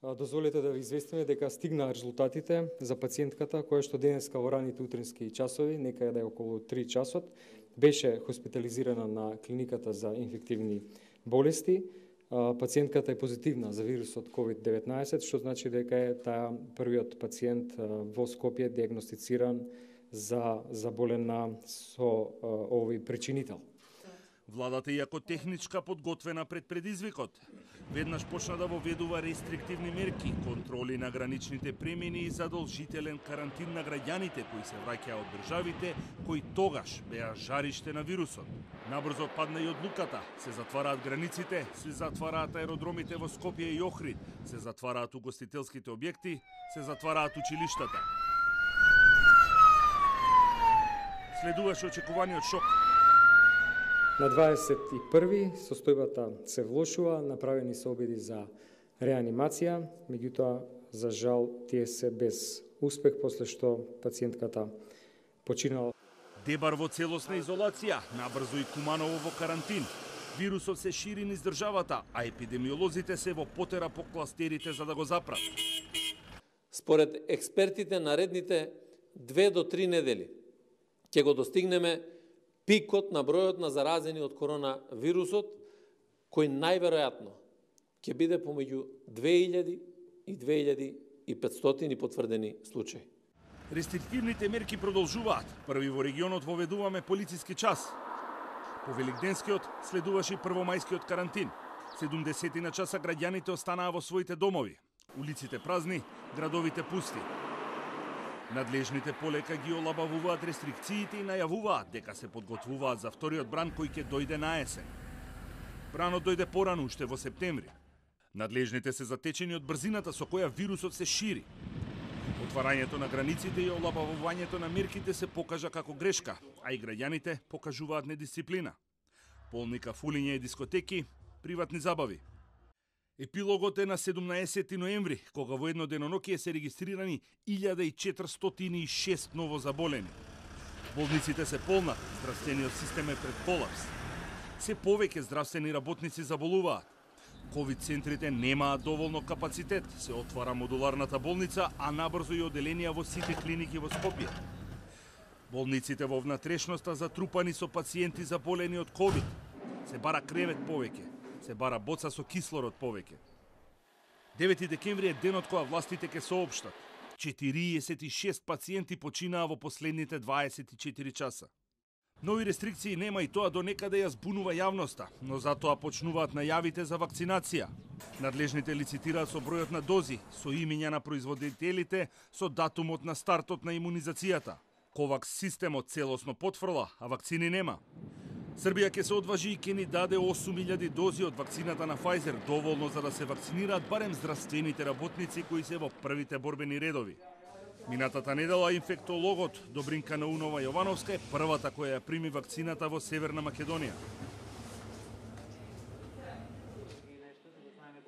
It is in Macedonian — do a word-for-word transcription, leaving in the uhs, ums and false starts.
Дозволете да ви известиме дека стигнаа резултатите за пациентката која што денеска во раните утрински часови, некаде околу три часот, беше хоспитализирана на клиниката за инфективни болести. Пациентката е позитивна за вирусот ковид деветнаесет, што значи дека е таа првиот пациент во Скопје диагностициран за заболена со овој причинител. Владата, иако техничка подготвена пред предизвикот, веднаш почна да воведува рестриктивни мерки, контроли на граничните премини и задолжителен карантин на граѓаните кои се враќаа од државите кои тогаш беа жариште на вирусот. Набрзо падна и одлуката, се затвараат границите, се затвараат аеродромите во Скопје и Охрид, се затвараат угостителските објекти, се затвараат училиштата. Следуваше очекуваниот шок. На дваесет и први состојбата се влошува, направени се обиди за реанимација, меѓутоа, за жал, тие се без успех, после што пациентката починала. Дебар во целосна изолација, набрзо и Куманово во карантин. Вирусот се шири низ државата, а епидемиолозите се во потера по кластерите за да го запрат. Според експертите, наредните две до три недели ќе го достигнеме пикот на бројот на заразени од коронавирусот, кој најверојатно ќе биде помеѓу две илјади и две илјади и петстотини потврдени случаи. Рестриктивните мерки продолжуваат. Први во регионот воведуваме полициски час. По Великденскиот следуваше и првомајскиот карантин. седумдесет часа граѓаните останаа во своите домови. Улиците празни, градовите пусти. Надлежните полека ги олабавуваат рестрикциите и најавуваат дека се подготвуваат за вториот бран кој ќе дојде на есен. Бранот дојде порано, уште во септември. Надлежните се затечени од брзината со која вирусот се шири. Отварањето на границите и олабавувањето на мерките се покажа како грешка, а и граѓаните покажуваат недисциплина. Полни кафулиња и дискотеки, приватни забави. Епилогот е на седумнаесети ноември, кога во едно денонокие се регистрирани илјада и четиристотини и шест ново заболени. Болниците се полнат, здравствениот систем е пред колапс. Се повеќе здравствени работници заболуваат. Ковид центрите немаат доволно капацитет, се отвара модуларната болница, а набрзо и оделенија во сите клиники во Скопје. Болниците во внатрешноста затрупани со пациенти заболени од ковид. Се бара кревет повеќе. Се бара боца со кислород повеќе. девети декември е денот кога властите ќе соопштат. четириесет и шест пациенти починаа во последните дваесет и четири часа. Нови рестрикции нема и тоа до некаде ја збунува јавноста, но затоа почнуваат најавите за вакцинација. Надлежните лицитираат со бројот на дози, со имиња на производителите, со датумот на стартот на имунизацијата. Ковакс системот целосно потфрла, а вакцини нема. Србија ќе се одважи и ќе ни даде осум илјади дози од вакцината на Pfizer, доволно за да се вакцинираат барем здравствените работници кои се во првите борбени редови. Минатата недела инфектологот Добринка Наунова Јовановска е првата која ја прими вакцината во Северна Македонија.